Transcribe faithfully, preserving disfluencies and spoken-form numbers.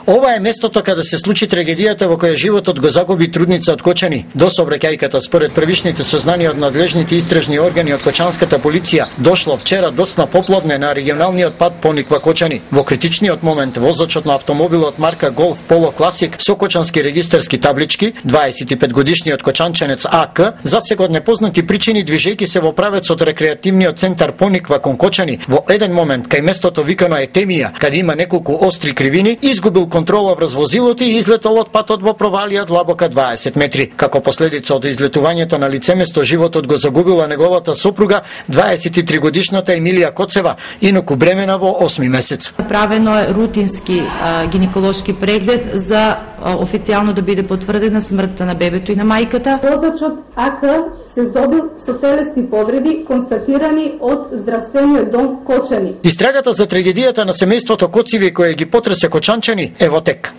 Ова е местото каде се случи трагедијата во која животот го загуби трудница од Кочани. До сообраќајката, според првичните сознанија од надлежните истражни органи од кочанската полиција, дошло вчера доцна попладне на регионалниот пат Пониква Кочани. Во критичниот момент возачот на автомобилот марка Golf Polo Classic со кочански регистарски таблички, дваесет и пет годишниот кочанченец А К, за сега од непознати причини движејќи се во правец од рекреативниот центар Пониква кон Кочани, во еден момент кај местото викано Етемија, каде има неколку остри кривини, изгубил контрола врз возилото и излетал од патот во провалија длабока дваесет метри. Како последица од излетувањето на лицеместо, животот го загубила неговата сопруга, дваесет и три годишната Емилија Коцева, инаку бремена во осми месец. Правено е рутински а, гинеколошки преглед за а, официјално да биде потврдена смртта на бебето и на мајката. Возачот А К се здобил со телесни повреди констатирани од здравствениот дом Кочани. Истрагата за трагедијата на семејството Коцеви која ги потресе кочанчани е во тек.